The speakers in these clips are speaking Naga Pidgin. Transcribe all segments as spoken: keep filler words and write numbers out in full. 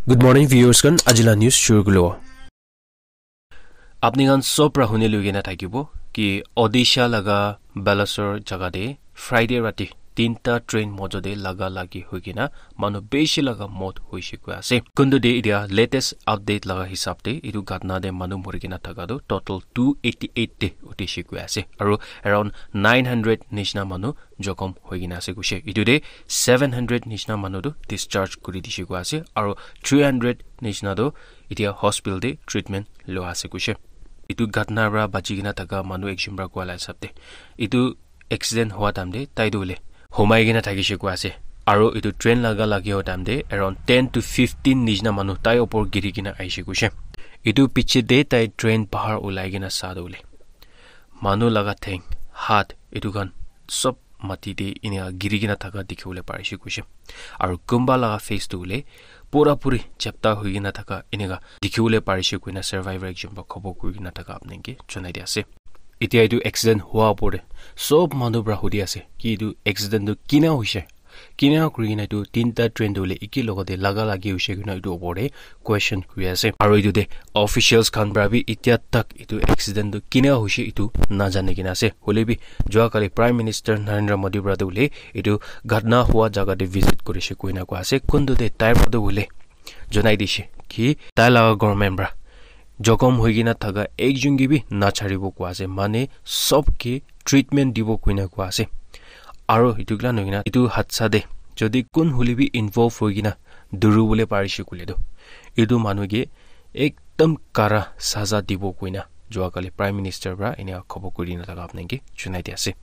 Good morning, viewers khan. Ajila news shuru kulo. Apni khan sob ra huni lui kena thakibo ki Odisha laga Balasore jaga te Friday rati tinta train mojo te laga lagi hoi kena manu bishi laga mot hoise koi ase. Kuntu de itia latest update laga hisab te etu ghatna te manu mori kena thaka tu total two eighty eight te uthi se koi ase. Aru around nine hundred nishna manu jokhom hoi kena ase koise. Etu te seven hundred nishna manu tu discharge kuri dise koi ase. Aru three hundred nishna tu itia hospital te treatment lua ase koise. Etu ghatna para bachi kena thaka manu ekjon para koa la hisab te etu accident hua time te tai tu hoile humai kena thakise koi ase. Aru etu train laga lagi ho time te around ten to fifteen nishna manu tai opor giri kena aise koise. Etu piche te tai train bahar ulai kena sa tu hoile manu laga theng, hat, etu khan sob mati te enia giri kena thaka dikhi bole parise koise. Aru kunba laga face tu hoile pura puri chapta hoi kena thaka eneka dikhi bole parise koina survivor ekjon para khobor kuri kena thaka apni ke jonai di ase. Etia etu accident hua opor te sob manu para hudi ase ki etu accident tu kina hoise, kina kuri kena etu tinta train tu hoile eki logote laga lagi hoise koina etu opor te question kuri ase. Aru etu te officials khan para bi etia tak etu accident tu kina hoise etu najane kena ase. Hoile bi jua kali Prime Minister Narendra Modi para tu hoile etu ghatna hua jaga te visit kurise koina koa ase. Kuntu te tai para tu hoile jonai dise ki tai laga government para jokhom hoi kena thaka ekjon ke bi nacharibo koa ase, mane sob ke treatment dibo koina koa ase. Aru etu kila nohoi kena etu hadsa te jodi kun hole bi involve hoi kena duri bole parise koile tu etu manu ke ekdam kara saza dibo koina jua kali Prime Minister para enia khobor kuri na thaka apni ke jonai di ase.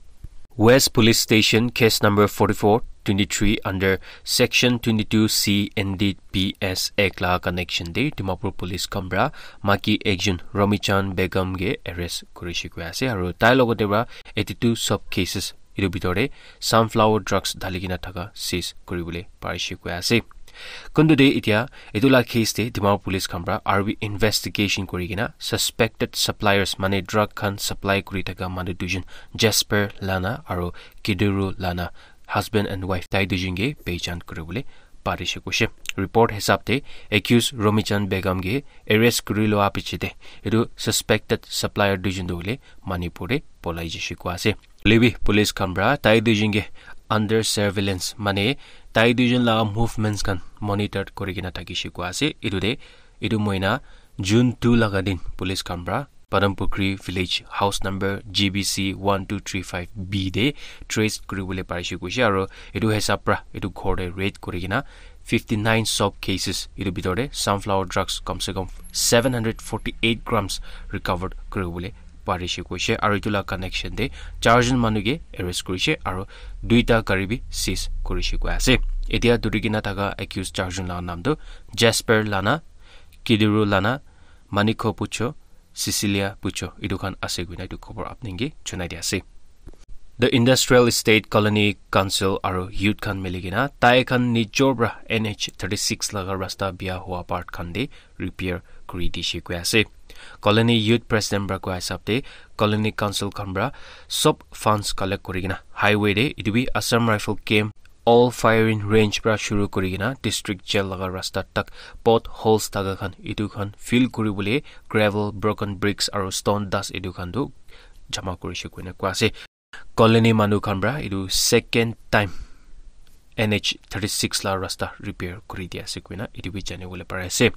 West Police Station case number forty-four twenty-three under Section twenty-two C N D P S Act la connection de Dimapur Police khan para maki ekjon Romichan Begum ke arrest kurise koi ase aru tai logote para eighty-two sub cases etu bitor te sunflower drugs dhali kena thaka seize kuri bole parise koi ase. Kuntu de itia etu la case te Dimapur Police khan para aru bi investigation kuri kena suspected suppliers mane drug khan supply kuri thaka manu duijon Jasper Lana aru Kiduru Lana husband and wife tai duijon ke pehchan kuri bole parise koise. Report hisab te accused Romichan Begum ke arrest kuri loa piche te etu suspected supplier duijon tu hoile Manipur te polai jise koi ase. Hoile bi police khan para tai duijon ke under surveillance mane tai duijon laga movements khan monitor kuri kena thakise koi ase. Etu te etu moina June two laga din police khan para Padampukhri village house number G B C one two three five B te trace kuri bole parise koise aru etu hisab para etu ghor te raid kuri kena fifty-nine sub cases etu bitor te sunflower drugs kam se kam seven hundred forty-eight grams recovered kuri bole parise koise aru etu la connection te charjon manu ke arrest kurise aru duita gari bi seize kurise koi ase. Etia duri kena thaka accused charjon la naam tu Jasper Lana, Kiduru Lana, Manikho Pucho, Cecilia Pucho etu khan ase koina etu khobor apni ke jonai di ase. The Industrial Estate Colony Council aru youth khan mili kena tai khan nijor para N H thirty-six laga rasta bia hua part khan te repair kuri dise koi ase. Colony Youth President para koa hisab te Colony Council khan para sob funds collect kuri kena highway te etu bi Assam Rifle Camp all firing range para shuru kuri kena district jail laga rasta tak potholes thaka khan etu khan fill kuri bole gravel, broken bricks aru stone dust etu khan tu jama kurise koina koi ase. Colony manu khan para etu second time N H thirty-six la rasta repair kuri di ase koina etu bi jani bole pari ase.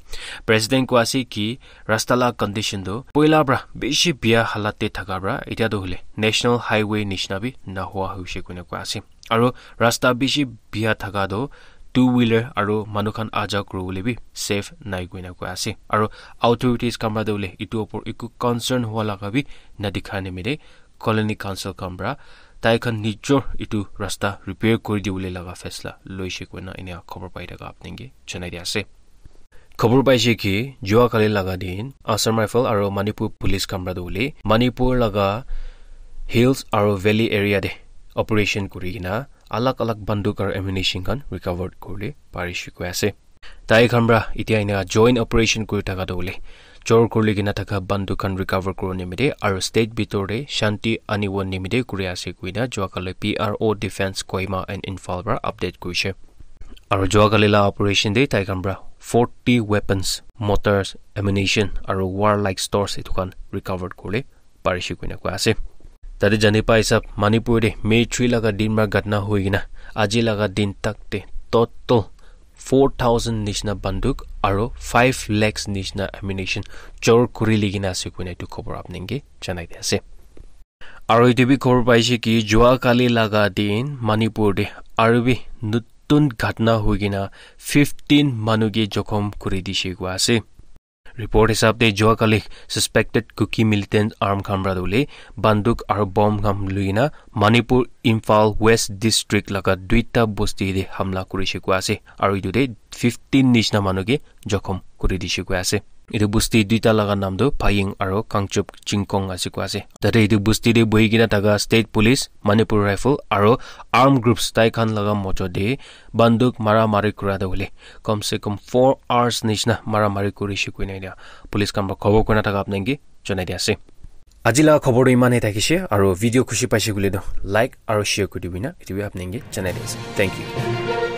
President koi ase ki rasta la condition tu poila para bishi bia halat te thaka para etia tu hoile National Highway nishna bi nahua hoise koina koi ase. Aru rasta bishi bia thaka tu two wheeler aru manu khan aja kuri bole bi safe nai koina koi ase. Aru authorities khan para tu hoile etu opor eku concern hua laga bi na dikha nimite Colony Council khan para tai khan nijor etu rasta repair kuri dibole laga faisla loise koina enia khobor pai thaka apni ke janai di ase. Khobor paise ki jua kali laga din Assam Rifle aru Manipur Police khan para tu hoile Manipur laga hills aru valley area te operation kuri kena alag alag banduk aru ammunition khan recovered kuribole parise koi ase. Tai khan para etia enia joint operation kuri thaka tu hoile chor kuri kena thaka banduk khan recover kuribo nimite aru state bitor te shanti anibo nimite kuri ase koina jua kali P R O Defence Kohima and Imphal para update kurise. Aru jua kali la operation te tai khan pra forty weapons, mortars, ammunition aru warlike stores etu khan recovered kurle parishe koina koi ase. Tate jani pai sab Manipur te May three laga din pra ghatna hui kena aji laga din tak te total four thousand nishna banduk aru five lakhs nishna ammunition chor kuri li kena ase koina etu khobor apnenge janai di ase. Aru etu bi khobor paise ki jua kali laga din Manipur te aru bi nutun ghatna hui kena fifteen manu ke jokhom kuri dishe koi ase. Report hisab te jua kali suspected Kuki militant arm khan pra dole banduk aru bomb khan lui kena Manipur Imphal West District laga duita bosti te hamla kurishe koi ase. Aru etu te fifteen nishna manu ke jokhom kuri dishe koi ase. Etu bosti duita laga nam tu Phaying aru Kangchup Chingkong ase koi ase. Tate etu bosti te bohi kena thaka state police, Manipur Rifle aru armed groups tai khan laga mojo te banduk mara mari kura te hoile kom se kom four hours nishna mara mari kurishe koina etia police khan pra khobor kurina thaka apnenge janai di ase. Aji laga khobor tu iman he thakishe aru video khushi paise koile tu like aru share kuri dibi na etu bi apnenge janai di ase. Thank you.